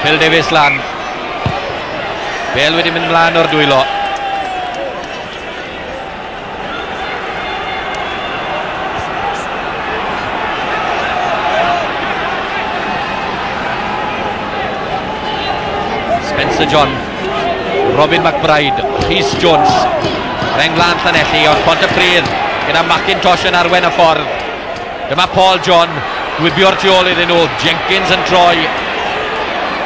Phil Davies lan. Bel wedi mynd mlaen o'r dwylo. Spencer John, Robin McBride, Rhys Jones, rheng flaen Llanelli, ond Pontypridd gyda McIntosh yn arwain y ffordd. Dyma Paul John, gwibio'r tu ôl iddyn nhw, Jenkins yn troi.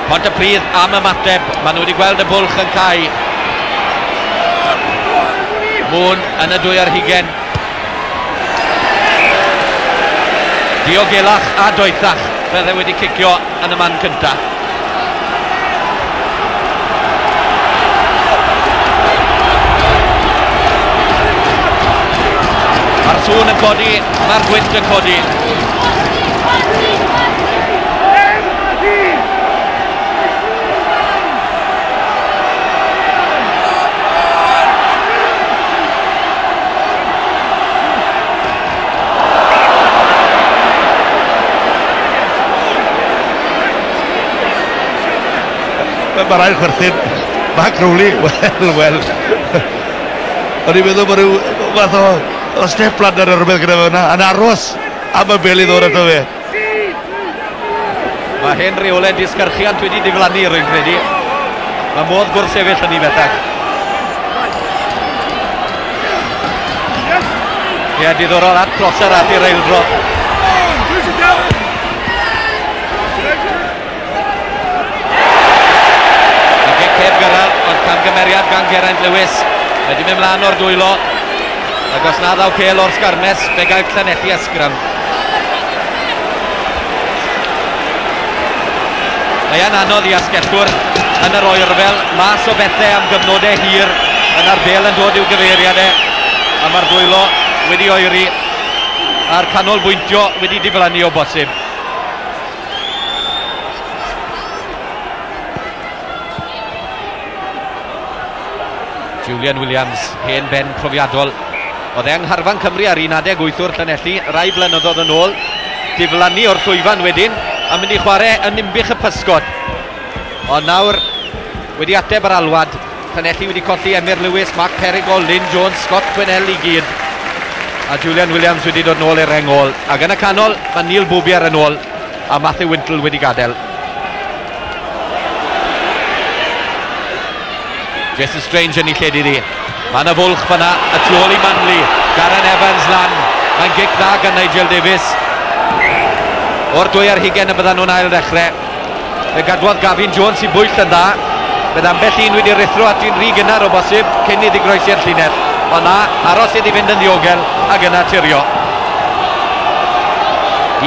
Pontypridd am ymateb, maen nhw wedi gweld y bwlch yn cau. Moon yn y 22. Diogelach a doethach, fydde wedi cicio yn y man cyntaf. Mae'r sŵn yn codi, mae'r gwynt yn codi. Mae'r ail chwerthin, Mark Rowley, wel. O'n i'n meddwl bod rhyw fath o step ladder ar rhywbeth gyda fe yna, yn aros am y bel i ddod ato fe. Mae hen reolau disgyrchiant wedi diflannu, rwy'n credu. Mae modd gwrthsefyll yn ei bellach. Ie, diddorol at Prosser at i'r eildro. Y gic heb gyrraedd, ond camgymeriad gan Geraint Lewis. Wedi mynd mlaen o'r dwylo. Ac os na ddaw cêl o'r sgarmes, fe gael Llanelli ysgram. Mae e'n anodd i asgellwr yn yr oerfel, mas o bethau am gyfnodau hir, yna'r bel yn dod i'w gyfeiriad e, a mae'r dwylo wedi oeri, a'r canolbwyntio wedi diflannu o bosib. Julian Williams, hen ben profiadol. Oedd e yng Ngharfan Cymru ar un adeg wythwr Llanelli, rai blynyddoedd yn ôl, diflannu o'r llwyfan wedyn, a mynd i chwarae yn Ninbych y Pysgod. Ond nawr, wedi ateb yr alwad, Llanelli wedi colli Emyr Lewis, Mark Perigo, Lynn Jones, Scott Quinnell i gyd. A Julian Williams wedi dod nôl i'r reng ôl. Ac yn y canol, mae Neil Boubier yn ôl, a Matthew Wintle wedi gadael. Jason Strange yn ei lled iddi. Mae yna fwlch fyna, y tu ôl i Manley. Darren Evans lan. Mae'n gic dda gan Nigel Davies. O'r 22 y byddan nhw'n ail ddechrau. Fe gadwodd Gavin Jones i bwyll yn dda. Bydd ambell un wedi rhuthro at un rhy gynnar o bosib cyn iddi groesi'r llinell. Ond na, aros iddi fynd yn ddiogel ac yna tirio.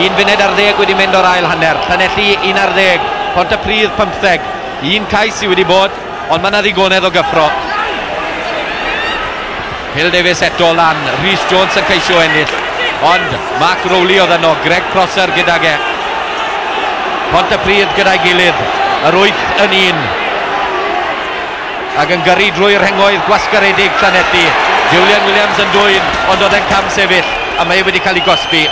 1:10 wedi mynd o'r ail hanner. Llanelli 11, Pontypridd 15. Un cais sydd wedi bod, ond mae yna ddigonedd o gyffro. Phil Davies eto lan, Rhys Jones yn ceisio ennill, ond Mark Rowley oedd yno, Greg Prosser gydag e. Pontypridd gyda'i gilydd, yr 8 yn 1. Ac yn gyrru drwy'r rhengoedd gwasgaredig Llanelli. Julian Williams yn dwyn, ond oedd e'n cam sefyll, a mae e wedi cael ei gosbi.